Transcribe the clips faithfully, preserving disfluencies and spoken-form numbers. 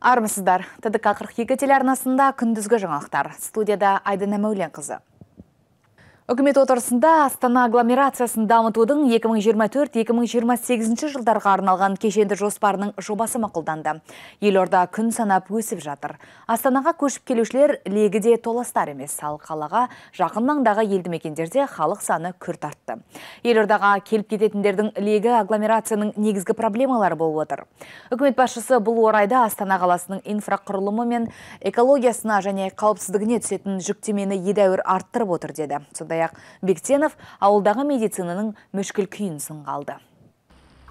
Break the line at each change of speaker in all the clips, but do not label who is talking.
Армысыздар. ТДК қырық екі телеарнасында күндізгі жаңалықтар. Студияда Айдана Мәулен қызы. Үкімет отырысында Астана агломерациясын дамытудың екі мың жиырма төрт екі мың жиырма сегізінші жылдарға арналған кешенді жоспарының жобасы мақұлданды. Елорда күн санап өсіп жатыр. Астанаға көшіп келушілер легіде толастар емес, ал қалаға жақын маңдағы елді мекендерде халық саны күрт артты. Елордаға келіп кететіндердің легі агломерацияның негізгі проблемалары болып отыр. Үкімет басшысы бұл орайда Астана қаласының инфрақұрылымы мен экологиясына және қауіпсіздігіне түсетін жүктемені едәуір арттырып отыр деді. Сондай-ақ Бектенов ауылдағы медицинаның мүшкіл күйін сынға алды.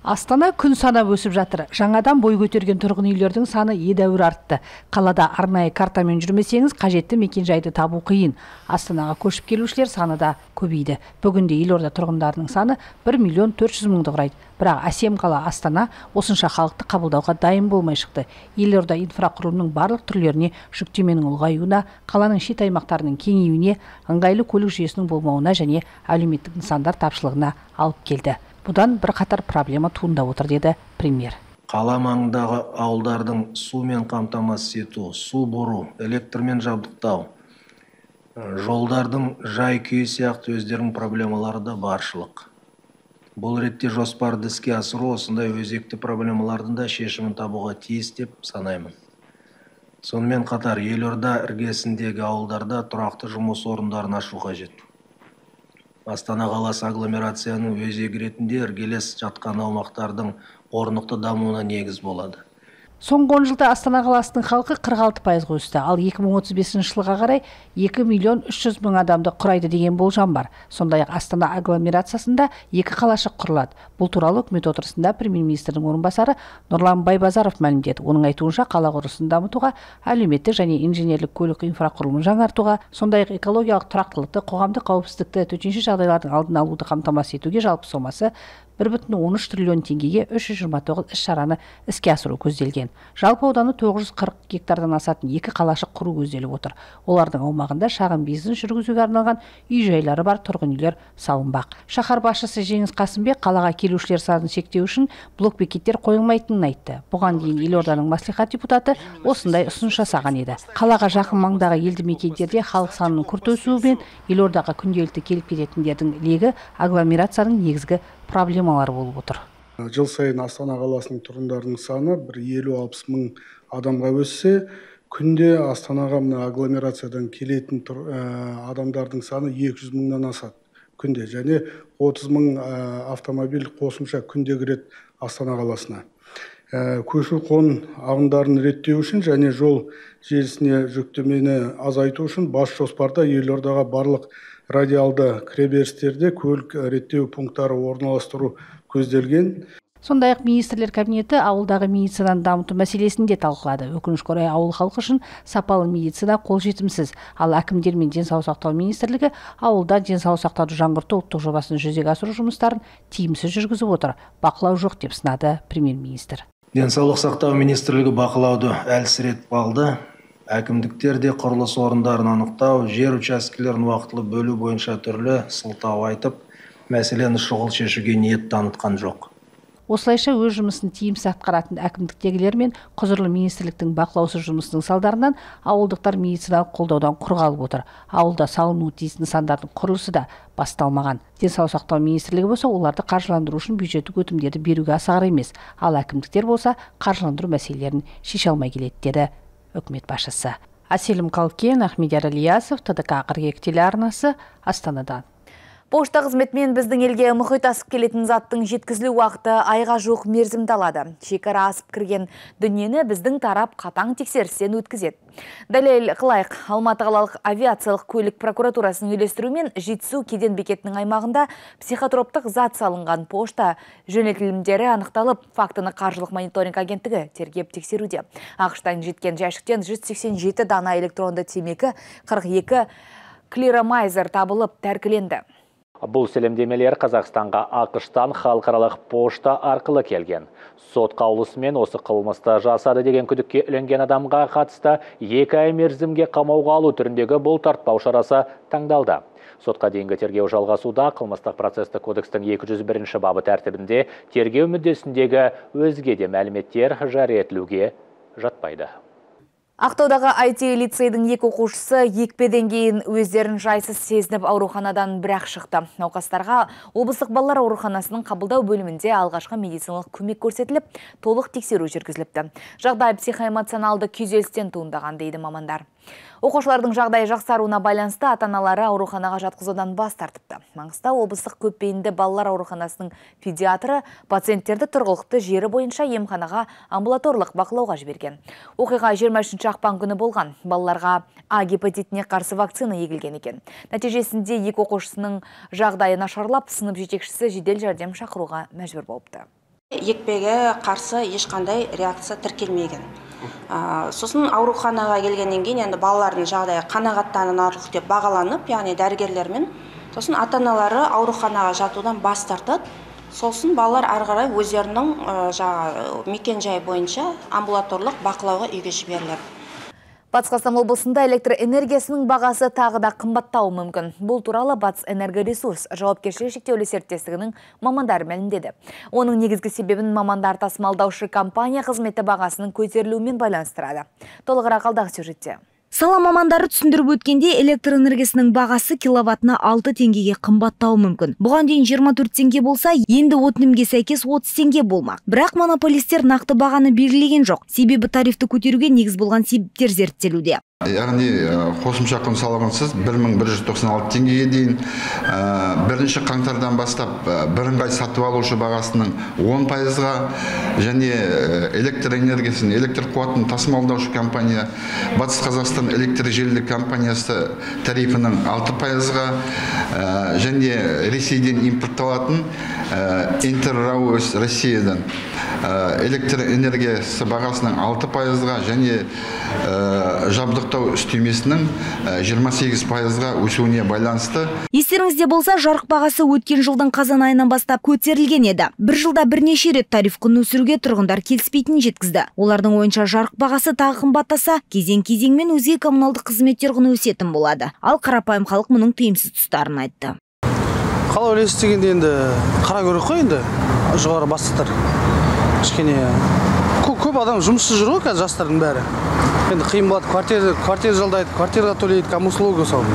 Астана күн санап өсіп жатыр. Жаңадан бой көтерген тұрғын үйлердің саны едәуір артты. Қалада арнайы картамен жүрмесеңіз, қажетті мекенжайды табу қиын. Астанаға көшіп келушілер саны да көбейді. Бүгінде елорда тұрғындарының саны бір миллион төрт жүз мыңды құрайды. Бірақ әсем қала Астана осынша халықты қабылдауға дайын болмай шықты. Елорда инфрақұрылымның барлық түрлеріне жүктеменің ұлғаюына, қаланың шет аймақтарының кеңеюіне, ыңғайлы көлік жүйесінің болмауына және әлеуметтік нысандар тапшылығына алып келді. Бұдан бір қатар проблема туындап отыр деді премьер.
Қала маңындағы ауылдардың сумен қамтамасыз ету, су бұру, электрмен жабдықтау, жолдардың жай күйі сияқты өздерінің проблемалары да баршылық. Бұл ретте жоспарды іске асыру осындай өзекті проблемалардың да шешімін табуға тиіс деп санаймын. Сонымен қатар елорда іргесіндегі ауылдарда тұрақты жұмыс орындарын ашу қажет. Астана қаласы агломерацияның өзегі ретінде іргелес жатқан аумақтардың орнықты дамуына негіз болады.
Соңғы он жылда Астана қаласының халқы қырық алты пайызға өсті, ал екі мың отыз бесінші жылға қарай екі миллион үш жүз мың адамды құрайды деген болжам бар. Сондай-ақ Астана агломерациясында екі қалашық құрылады. Бұл туралы үкімет отырысында премьер-министрдің орынбасары Нұрлан Байбазаров мәлімдеді. Оның айтуынша қала құрылысын дамытуға, әлеуметтік және инженерлік көлік инфрақұрылымын жаңартуға, сондай-ақ экологиялық тұрақтылықты, қоғамдық қауіпсіздікті, төтенше жағдайлардың алдын алуды қамтамасыз етуге жалпы сомасы бір бүтін оннан үш триллион теңгеге үш жүз жиырма тоғыз іс-шараны іске асыру көзделген. Жалпы ауданы тоғыз жүз қырық гектардан асатын екі қалашық құру көзделіп отыр. Олардың аумағында шағын бизнес жүргізуге арналған үй-жайлары бар тұрғын үйлер салынбақ. Шаһар басшысы Жеңіс Қасымбек қалаға келушілер санын шектеу үшін блок-бекеттер қойылмайтынын айтты. Бұған дейін елорданың мәслихат депутаты осындай ұсыныс жасаған еді. Қалаға жақын маңдағы елді мекендерде халық санының күрт өсуімен елордаға күнделікті келіп кететіндердің легі агломерацияның негізгі проблемалары болып отыр.
Жыл сайын Астана қаласының тұрғындарының саны бір елу алпыс мың адамға өссе, күнде Астанаға мына агломерациядан келетін адамдардың саны екі жүз мыңнан асады күнде, және отыз мың автомобиль қосымша күнде кіреді Астана қаласына. Көші-қон ағындарын реттеу үшін және жол желісіне жүктемені азайту үшін бас жоспарда елордаға барлық радиалды кіреберістерде көлік реттеу пункттары орналастыру көзделген.
Сондай-ақ министрлер кабинеті ауылдағы медицинаны дамыту мәселесін де талқылады. Өкінішке орай ауыл халқы үшін сапалы медицина қолжетімсіз, ал әкімдер мен денсаулық сақтау министрлігі ауылда денсаулық сақтауды жаңғырту ұлттық жобасын жүзеге асыру жұмыстарын тиімсіз жүргізіп отыр. Бақылау жоқ деп сынады премьер-министр.
Денсаулық сақтау министрлігі бақылауды әлсіретіп алды. Әкімдіктер де құрылыс орындарын анықтау, жер учаскелерін уақытылы бөлу бойынша түрлі сылтау айтып, мәселені шұғыл шешуге ниет танытқан жоқ.
Осылайша өз жұмысын тиімсіз атқаратын әкімдіктегілер мен құзырлы министрліктің бақылаусыз жұмысының салдарынан ауылдықтар медициналық қолдаудан құр қалып отыр. Ауылда салынуы тиіс нысандардың құрылысы да басталмаған. Денсаулық сақтау министрлігі болса, оларды қаржыландыру үшін бюджеттік өтімдерді беруге асығар емес, ал әкімдіктер болса, қаржыландыру мәселелерін шеше алмай келеді деді үкімет басшысы. Аселім Қалкен, Ахмедияр Ильясов, ТДК қырық екі телеарнасы, Астанадан.
Пошта қызметімен біздің елге мұхит асып келетін заттың жеткізілу уақыты айға жуық мерзімді алады. Шекара асып кірген дүниені біздің тарап қатаң тексерістен өткізеді. Дәлел қылайық, Алматы қалалық авиациялық көлік прокуратурасының үйлестіруімен Жетісу кеден бекетінің аймағында психотроптық зат салынған пошта жөнелтілімдері анықталып, фактіні қаржылық мониторинг агенттігі тергеп тексеруде. ақш-тан жеткен жәшіктен жүз сексен жеті дана электронды темекі, қырық екі клиромайзер табылып тәркіленді.
Бұл сәлемдемелер Қазақстанға ақш-тан халықаралық пошта арқылы келген. Сот қаулысымен осы қылмысты жасады деген күдікке ілінген адамға қатысты екі ай мерзімге қамауға алу түріндегі бұлтартпау шарасы таңдалды. Сотқа дейінгі тергеу жалғасуда қылмыстық процесті кодекстің екі жүз бірінші бабы тәртібінде тергеу мүддесіндегі өзге де мәліметтер жария етілуге жатпайды.
Ақтаудағы ай ти лицейдің екі оқушысы екпеден кейін өздерін жайсыз сезініп ауруханадан бірақ шықты. Науқастарға облыстық балалар ауруханасының қабылдау бөлімінде алғашқы медициналық көмек көрсетіліп, толық тексеру жүргізіліпті. Жағдай психоэмоционалды күйзелістен туындаған дейді мамандар. Оқушылардың жағдайы жақсаруына байланысты ата-аналары ауруханаға жатқызудан бас тартыпты. Маңғыстау облыстық көпбейінді балалар ауруханасының педиатры пациенттерді тұрғылықты жері бойынша емханаға амбулаторлық бақылауға жіберген. Оқиға жиырма үшінші ақпан күні болған. Балаларға А гепатитіне қарсы вакцина егілген екен. Нәтижесінде екі оқушысының жағдайы нашарлап, сынып жетекшісі жедел жәрдем шақыруға мәжбүр болыпты.
Екпеге қарсы ешқандай реакция тіркелмеген. Сосын ауруханаға келгеннен кейін енді балалардың жағдайы қанағаттанарлық деп бағаланып, яғни дәрігерлермен, сосын ата-аналары ауруханаға жатудан бас тартады. Сосын балалар ары қарай өздерінің мекен-жайы бойынша амбулаторлық бақылауға үйге жіберіледі.
Батыс Қазақстан облысында электр энергиясының бағасы тағы да қымбаттауы мүмкін. Бұл туралы Батыс энергоресурс жауапкершілігі шектеулі серіктестігінің мамандары мәлімдеді. Оның негізгі себебін мамандар тасымалдаушы компания қызметі бағасының көтерілуімен байланыстырады. Толығырақ алдағы сюжетте.
Сала мамандары түсіндіріп өткенде электр энергиясының бағасы киловаттына алты теңгеге қымбаттауы мүмкін. Бұған дейін жиырма төрт теңге болса, енді өтінімге сәйкес отыз теңге болмақ. Бірақ монополистер нақты бағаны белгілеген жоқ. Себебі тарифті көтеруге негіз болған себептер зерттелуде.
Яғни қосымша құн салығынсыз бір мың бір жүз тоқсан алты теңгеге дейін бірінші қаңтардан бастап бірыңғай сатып алушы бағасының он пайызға және электр энергиясын, электр қуатын тасымалдаушы компания Батыс Қазақстан электр желілік компаниясы тарифінің алты пайызға және Ресейден импортталатын Интеррау Россиядан электр энергиясы бағасының алты пайызға және жабдықтау үстемесінің жиырма сегіз пайызға өсуіне байланысты.
Естеріңізде болса, жарық бағасы өткен жылдың қазан айынан бастап көтерілген еді. Бір жылда бірнеше рет тариф құнын өсіруге тұрғындар келіспейтінін жеткізді. Олардың ойынша жарық бағасы тағы қымбаттаса, кезең-кезеңмен өзге коммуналдық қызметтер құны өсетін болады. Ал қарапайым халық мұның тиімсіз тұстарын айтты.
Қалай ойлайсыз дегенде енді қара көріп қой енді жоғары бастықтар. Кішкене көп адам жұмыссыз жүр ғой қазір жастардың бәрі. Енді қиын болады, квартира, квартира жалдайды, квартираға төлейді, коммуслуга сол.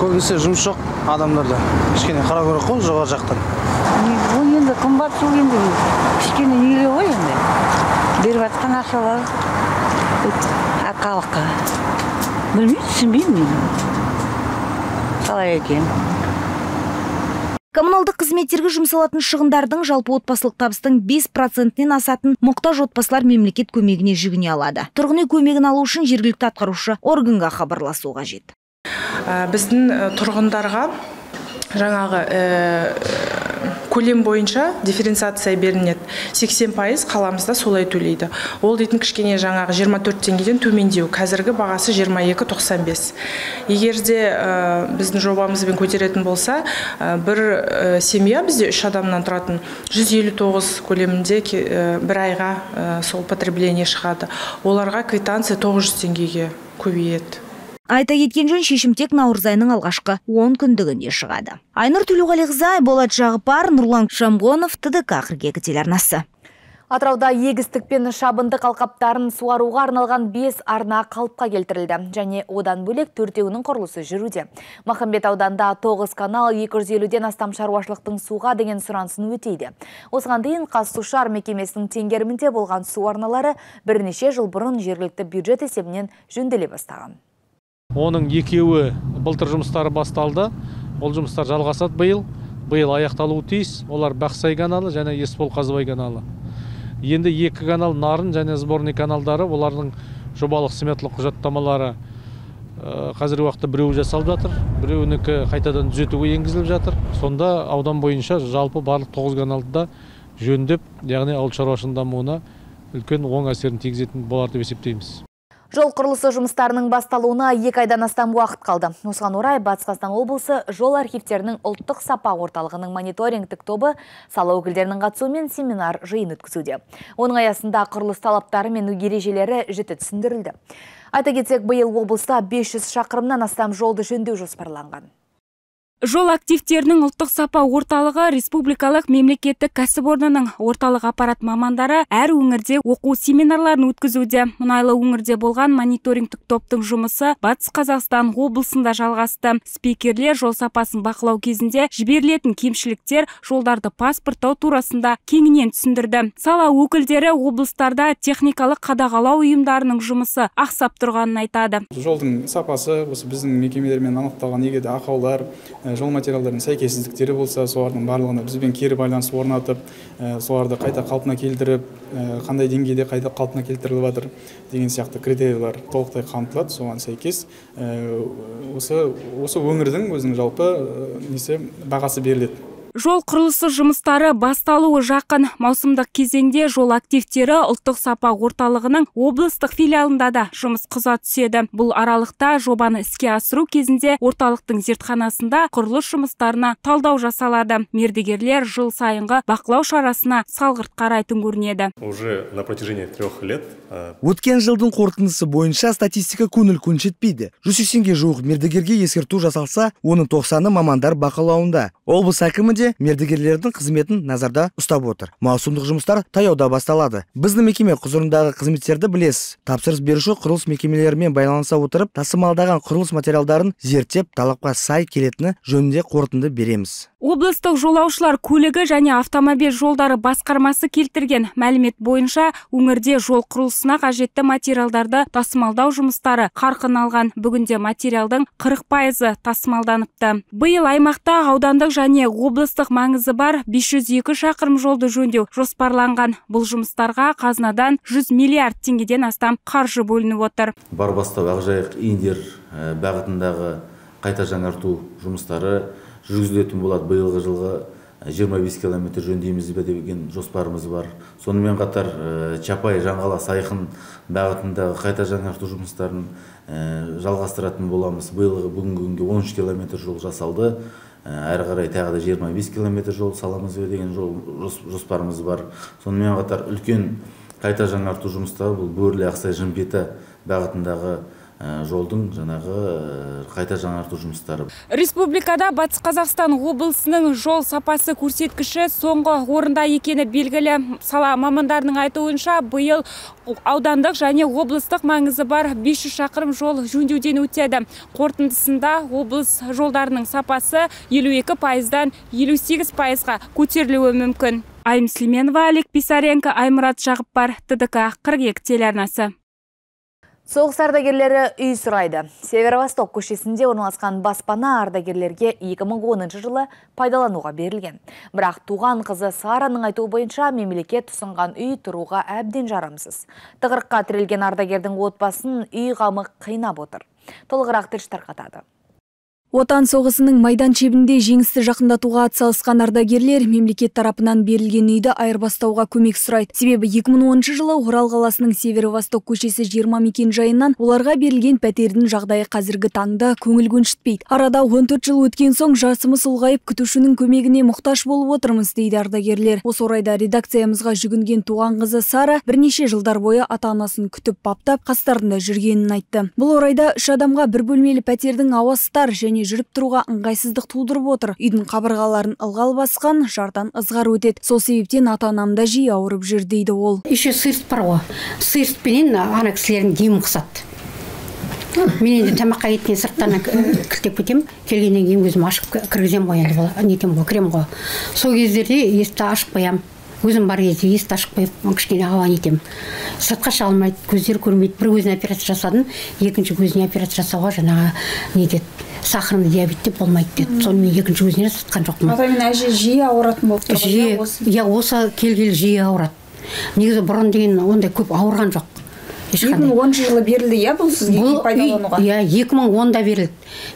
Көбінесе жұмыс жоқ адамдарда. Кішкене қара көріп қой жоғары жақтан.
Бұл енді қымбат сол енді кішкене неге ғой енді. Беріп жатқан ақшалар халыққа. Білмеймін, түсінбеймін. Қалай екен.
Коммуналдық қызметтерге жұмсалатын шығындардың жалпы отбасылық табыстың бес процентінен асатын мұқтаж отбасылар мемлекет көмегіне жүгіне алады. Тұрғын үй көмегін алу үшін жергілікті атқарушы органға хабарласу қажет.
Біздің тұрғындарға жаңағы көлем бойынша дифференциация берінеді. сексен пайыз қаламызда солай төлейді. Ол дейтін кішкене жаңағы жиырма төрт теңгеден төмендеу. Қазіргі бағасы жиырма екі тоқсан бес. Егерде біздің жобамызбен көтеретін болса, бір семья бізде үш адамнан тұратын жүз елу тоғыз көлемінде бір айға сол потребление шығады. Оларға квитанция тоғыз жүз теңгеге көбейеді.
Айта кеткен жөн, шешім тек наурыз айының алғашқы он күндігінде шығады. Айнұр Төлеуғалиқызы, Болат Жағыпар, Нұрлан Шамғонов, Т Д К қырық екі телеарнасы.
Атырауда егістік пен шабындық алқаптарын суаруға арналған бес арна қалыпқа келтірілді. Және одан бөлек төртеуінің құрылысы жүруде. Махамбет ауданда тоғыз канал екі жүз елуден астам шаруашылықтың суға деген сұранысын өтейді. Осыған дейін Қазсушар мекемесінің теңгерімінде болған су арналары бірнеше жыл бұрын жергілікті бюджет есебінен жөнделе бастаған.
Оның екеуі былтыр жұмыстары басталды. Ол жұмыстар жалғасады биыл. Биыл аяқталуы тиіс. Олар Бақсай каналы және Есбол Қазыбай каналы. Енді екі канал Нарын және Сборный каналдары, олардың жобалық сметалық құжаттамалары қазіргі уақытта біреуі жасалып жатыр, біреуінікі қайтадан түзетуге енгізіліп жатыр. Сонда аудан бойынша жалпы барлық тоғыз каналды да жөндеп, яғни ауыл шаруашылығының дамуына үлкен оң әсерін тигізетін болар деп есептейміз.
Жол құрылысы жұмыстарының басталуына екі айдан астам уақыт қалды. Осыған орай Батыс Қазақстан облысы жол архивтерінің ұлттық сапа орталығының мониторингтік тобы сала өкілдерінің қатысуымен семинар жиын өткізуде. Оның аясында құрылыс талаптары мен ережелері жіті түсіндірілді. Айта кетсек, биыл облыста бес жүз шақырымнан астам жолды жөндеу жоспарланған.
Жол активтерінің ұлттық сапа орталығы республикалық мемлекеттік кәсіпорнының орталық аппарат мамандары әр өңірде оқу семинарларын өткізуде. Мұнайлы өңірде болған мониторингтік топтың жұмысы Батыс Қазақстан облысында жалғасты. Спикерлер жол сапасын бақылау кезінде жіберілетін кемшіліктер, жолдарды паспорттау турасында кеңінен түсіндірді. Сала өкілдері облыстарда техникалық қадағалау ұйымдарының жұмысы ақсап тұрғанын айтады.
Жолдың сапасы осы біздің мекемелермен анықталған егер де ақаулар, жол материалдарының сәйкессіздіктері болса, солардың барлығына бізбен кері байланыс орнатып, соларды қайта қалпына келтіріп, қандай деңгейде қайта қалпына келтіріліп жатыр деген сияқты критериялар толықтай қамтылады. Соған сәйкес осы осы өңірдің өзінің жалпы несі бағасы беріледі.
Жол құрылысы жұмыстары басталуы жақын. Маусымдық кезеңде жол активтері ұлттық сапа орталығының облыстық филиалында да жұмыс қыза түседі. Бұл аралықта жобаны іске асыру кезінде орталықтың зертханасында құрылыс жұмыстарына талдау жасалады. Мердігерлер жыл сайынғы бақылау шарасына салғырт қарайтын көрінеді.
Уже на протяжении трех лет.
Өткен жылдың қорытындысы бойынша статистика көңіл көншітпейді. жүз сексенге жуық мердігерге ескерту жасалса, оның тоқсаны мамандар бақылауында. Облыс әкімі де мердігерлердің қызметін назарда ұстап отыр. Маусымдық жұмыстар таяуда басталады. Біздің мекеме құзырындағы қызметтерді білесіз. Тапсырыс беруші құрылыс мекемелерімен байланыса отырып, тасымалдаған құрылыс материалдарын зерттеп, талапқа сай келетіні жөнінде қорытынды береміз.
Облыстық жолаушылар көлігі және автомобиль жолдары басқармасы келтірген мәлімет бойынша өңірде жол құрылысына қажетті материалдарды тасымалдау жұмыстары қарқын алған. Бүгінде материалдың қырық пайызы тасымалданыпты. Биыл аймақта аудандық және облыстық маңызы бар бес жүз екі шақырым жолды жөндеу жоспарланған. Бұл жұмыстарға қазынадан жүз миллиард теңгеден астам қаржы бөлініп отыр.
Барбастау, Ақжайық, Индер бағытындағы қайта жаңарту жұмыстары жүргізілетін болады. Биылғы жылғы жиырма бес километр жөндейміз бе деген жоспарымыз бар. Сонымен қатар Чапай, Жаңғала, Сайқын бағытындағы қайта жаңарту жұмыстарын жалғастыратын боламыз. Биылғы бүгінгі күнге он үш километр жол жасалды. Әрі қарай тағы да жиырма бес километр жол саламыз бе деген жол жоспарымыз бар. Сонымен қатар үлкен қайта жаңарту жұмыстары бұл Бөрлі, Ақсай, Жымпиты бағытындағы жолдың жаңағы қайта жаңарту жұмыстары.
Республикада Батыс Қазақстан облысының жол сапасы көрсеткіші соңғы орында екені белгілі. Сала мамандарының айтуынша биыл аудандық және облыстық маңызы бар бес жүз шақырым жол жөндеуден өтеді. Қорытындысында облыс жолдарының сапасы елу екі пайыздан елу сегіз пайызға көтерілуі мүмкін. Айым Слеменова, Олег Писаренко, Аймұрат Жағыппар, Т Д К қырық екі телеарнасы.
Соғыс ардагерлері үй сұрайды. Северо-Восток көшесінде орналасқан баспана ардагерлерге екі мың оныншы жылы пайдалануға берілген. Бірақ туған қызы Сараның айтуы бойынша мемлекет ұсынған үй тұруға әбден жарамсыз. Тығырыққа тірелген ардагердің отбасын үй қамы қинап отыр. Толығырақ тілші тарқатады.
Отан соғысының майдан шебінде жеңісті жақындатуға атсалысқан ардагерлер мемлекет тарапынан берілген үйді айырбастауға көмек сұрайды. Себебі екі мың оныншы жылы Орал қаласының Северо-Восток көшесі жиырма мекен жайынан оларға берілген пәтердің жағдайы қазіргі таңда көңіл көншітпейді. Арада он төрт жыл өткен соң жасымыз ұлғайып, күтушінің көмегіне мұқтаж болып отырмыз дейді ардагерлер. Осы орайда редакциямызға жүгінген туған қызы Сара бірнеше жылдар бойы ата-анасын күтіп баптап қастарында жүргенін айтты. Бұл орайда үш адамға бір бөлмелі пәтердің ауасы тар және жүріп тұруға ыңғайсыздық тудырып отыр. Үйдің қабырғаларын ылғал басқан, жардан ызғар өтеді. Сол себептен ата-анамда жиі ауырып жүр дейді ол.
Еще сырт бар ғой. Сыртпенен ана кісілердің демі қысады. Мен енді тамаққа еттен сырттан кіртеп кетем. Келгеннен кейін өзім ашып кіргізем ғой, енді нетем ғой, кірем ғой. Сол кездерде есікті ашып қоям. Өзім бар кезде есікті ашып қойып, кішкене ауа нетем. Сыртқа шыға алмайды, көздері көрмейді. Бір көзіне операция жасадым, екінші көзіне операция жасауға жаңағы нетеді. Сахарный диабет деп болмайды деді. Сонымен екінші көзіне сатқан жоқпын.
Атаймен әже жиі ауыратын болып тұр.
Жиі, я осы келгелі жиі ауырады. Негізі бұрын деген ондай көп ауырған жоқ.
екі мың оныншы жылы берілді, я бұл сізге пайдалануға?
Иә, екі мың онда берілді.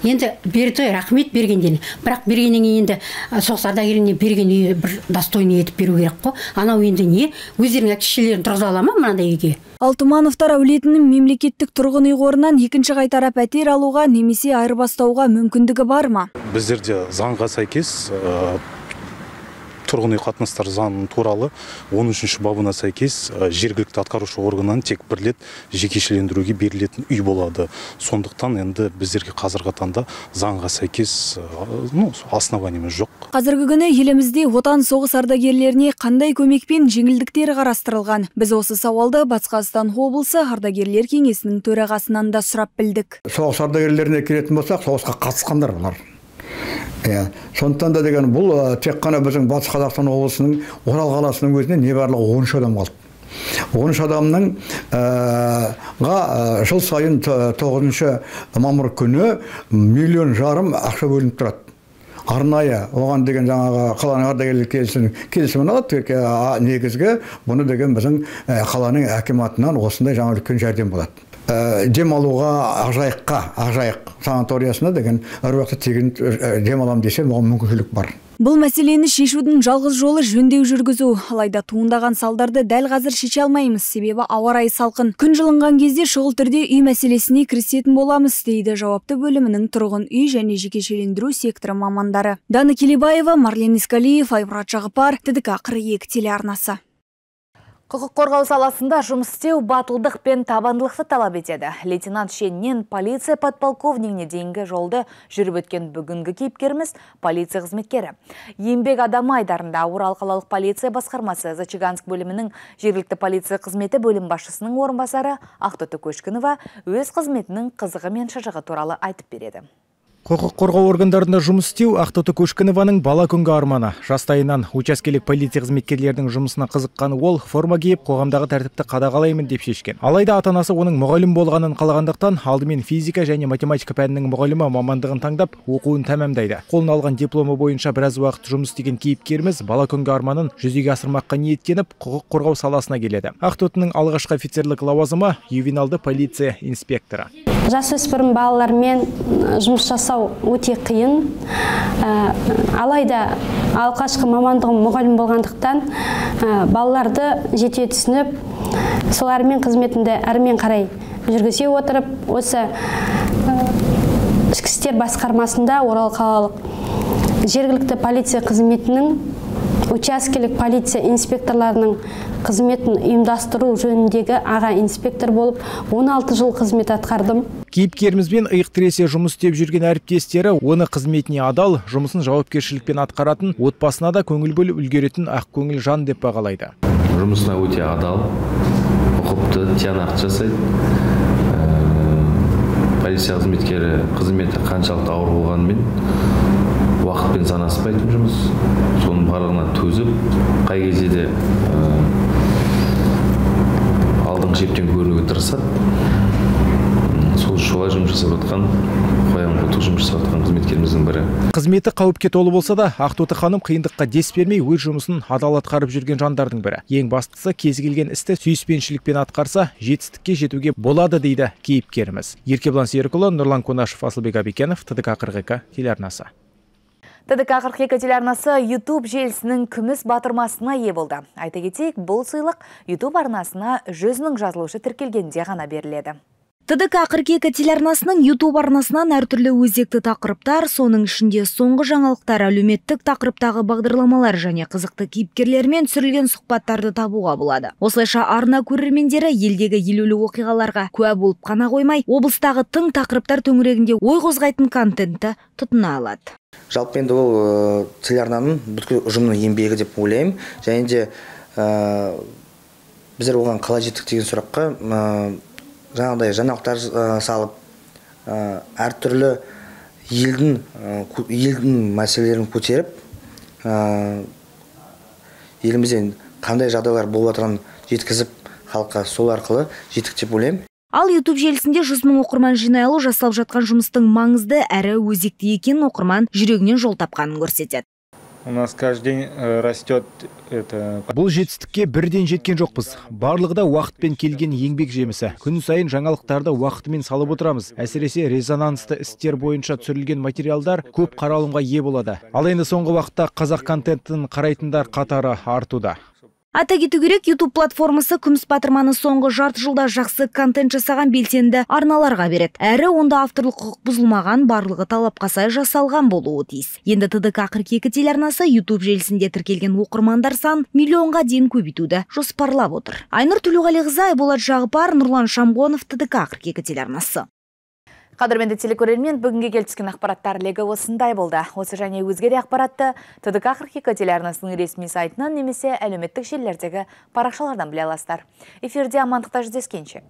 Енді берді, рахмет бергенден. Бірақ бергеннен енді соғыс ардагеріне берген үйі бір достойный етіп беру керек қой. Анау енді не? Өздерінің әке-шешелерін тұрғыза ала ма мынандай үйге?
Алтымановтар әулетінің мемлекеттік тұрғын үй қорынан екінші қайтара пәтер алуға немесе айырбастауға мүмкіндігі бар ма?
Біздерде заңға сәйкес тұрғын үй қатынастар заңы туралы он үшінші бабына сәйкес жергілікті атқарушы органнан тек бір рет жекешелендіруге берілетін үй болады. Сондықтан енді біздерге қазіргі таңда заңға сәйкес ну, основаниеміз жоқ.
Қазіргі күні елімізде отан соғыс ардагерлеріне қандай көмек пен жеңілдіктер қарастырылған? Біз осы сауалды Батыс Қазақстан облысы ардагерлер кеңесінің төрағасынан да сұрап білдік.
Соғыс ардагерлеріне келетін болсақ, соғысқа қатысқандар бұлар. Сондықтан да деген бұл тек қана біздің Батыс Қазақстан облысының Орал қаласының өзіне не барлығы он үш адам қалды. он үш адамның жыл сайын тоғызыншы мамыр күні миллион жарым ақша бөлініп тұрады. Арнайы оған деген жаңағы қаланың ардагерлер келісімін алады. Негізгі бұны деген біздің қаланың акиматынан осындай жаңа үлкен жәрдем болады. Дем алуға Ақжайыққа, Ақжайық санаториясына деген әр уақытта тегін дем алам десем, оған мүмкіншілік бар.
Бұл мәселені шешудің жалғыз жолы жөндеу жүргізу. Алайда туындаған салдарды дәл қазір шеше алмаймыз, себебі ауа райы салқын. Күн жылынған кезде шұғыл түрде үй мәселесіне кірісетін боламыз, дейді жауапты бөлімінің тұрғын үй және жекешелендіру секторы мамандары. Дана Келебаева, Марлен Искалиев, Айбрат Жағыпар, Т Д К қырық екі телеарнасы.
Құқық қорғау саласында жұмыс істеу батылдық пен табандылықты талап етеді. Лейтенант шеннен полиция подполковнигіне дейінгі жолды жүріп өткен бүгінгі кейіпкеріміз полиция қызметкері. Еңбек адамы айдарында Орал қалалық полиция басқармасы Зачаганск бөлімінің жергілікті полиция қызметі бөлім басшысының орынбасары Ақтоты Көшкінова өз қызметінің қызығы мен шыжығы туралы айтып береді.
Құқық қорғау органдарында жұмыс істеу Ақтоты Көшкінованың бала күнгі арманы. Жастайынан учаскелік полиция қызметкерлердің жұмысына қызыққан ол форма киіп, қоғамдағы тәртіпті қадағалаймын деп шешкен. Алайда ата-анасы оның мұғалім болғанын қалағандықтан, алдымен физика және математика пәнінің мұғалімі мамандығын таңдап, оқуын тәмамдайды. Қолына алған дипломы бойынша біраз уақыт жұмыс істеген кейіпкеріміз бала күнгі арманын жүзеге асырмаққа ниеттеніп, құқық қорғау саласына келеді. Ақтотының алғашқы офицерлік лауазымы ювеналды полиция инспекторы.
Жасөспірім балалармен жұмыс жасау өте қиын. Алайда алғашқы мамандығым мұғалім болғандықтан балаларды жете түсініп, солармен қызметінде әрмен қарай жүргізе отырып, осы ішкі істер басқармасында Орал қалалық жергілікті полиция қызметінің учаскелік полиция инспекторларының қызметін ұйымдастыру жөніндегі аға инспектор болып он алты жыл қызмет атқардым.
Кейіпкерімізбен иық тіресе жұмыс істеп жүрген әріптестері оны қызметіне адал, жұмысын жауапкершілікпен атқаратын, отбасына да көңіл бөліп үлгеретін ақ көңіл жан деп бағалайды.
Жұмысына өте адал, ұқыпты, тиянақты жасайды. Полиция қызметкері қызметі қаншалықты ауыр болғанымен уақытпен санаспайтын жұмыс. Соның барлығына төзіп, қай кезде де алдыңғы шептен көрінуге тырысады. Сол жолай жұмыс жасап жатқан, қоян қолтық жұмыс жасап жатқан қызметкеріміздің бірі.
Қызметі қауіпке толы болса да, Ақтоты ханым қиындыққа дес бермей өз жұмысын адал атқарып жүрген жандардың бірі. Ең бастысы кез келген істі сүйіспеншілікпен атқарса, жетістікке жетуге болады дейді кейіпкеріміз. Еркебұлан Серікұлы, Нұрлан Конашев, Асылбек Абекенов, Т Д К қырық екі телеарнасы.
Т Д К қырық екі телеарнасы YouTube желісінің күміс батырмасына ие болды. Айта кетейік, бұл сыйлық YouTube арнасына жүзінің жазылушы тіркелгенде ғана беріледі.
Т Д К қырық екі телеарнасының YouTube арнасынан әртүрлі өзекті тақырыптар, соның ішінде соңғы жаңалықтар, әлеуметтік тақырыптағы бағдарламалар және қызықты кейіпкерлермен түсірілген сұхбаттарды табуға болады. Осылайша арна көрермендері елдегі елеулі оқиғаларға куә болып қана қоймай, облыстағы тың тақырыптар төңірегінде ой қозғайтын контентті тұтына алады.
Жалпы енді ол телеарнаның бүткіл ұжымның еңбегі деп ойлаймын. Және де біздер оған қалай жеттік деген сұраққа жаңағыдай жаңалықтар салып, әртүрлі елдің елдің мәселелерін көтеріп, елімізден қандай жағдайлар болып жатқанын жеткізіп, халыққа сол арқылы жеттік деп ойлаймын.
Ал YouTube желісінде жүз мың оқырман жинай алу жасалып жатқан жұмыстың маңызды әрі өзекті екенін оқырман жүрегінен жол тапқанын көрсетеді.
У нас каждый день растет это.
Бұл жетістікке бірден жеткен жоқпыз. Барлығы да уақытпен келген еңбек жемісі. Күн сайын жаңалықтарды уақытымен салып отырамыз. Әсіресе резонансты істер бойынша түсірілген материалдар көп қаралымға ие болады. Ал енді соңғы уақытта қазақ контентін қарайтындар қатары артуда.
Ата кету керек, YouTube платформасы күміс батырманы соңғы жарты жылда жақсы контент жасаған белсенді арналарға береді. Әрі онда авторлық құқық бұзылмаған, барлығы талапқа сай жасалған болуы тиіс. Енді Т Д К қырық екі телеарнасы YouTube желісінде тіркелген оқырмандар сан миллионға дейін көбейтуді жоспарлап отыр. Айнұр Төлеуғалиқызы, Айболат Жағыпар, Нұрлан Шамғонов, Т Д К қырық екі телеарнасы.
Қадірменді телекөрермен, бүгінге келіп түскен ақпараттар легі осындай болды. Осы және өзге де ақпаратты Т Д К қырық екі телеарнасының ресми сайтынан немесе әлеуметтік желілердегі парақшалардан біле аласыздар. Эфирде амандықта жүздескенше.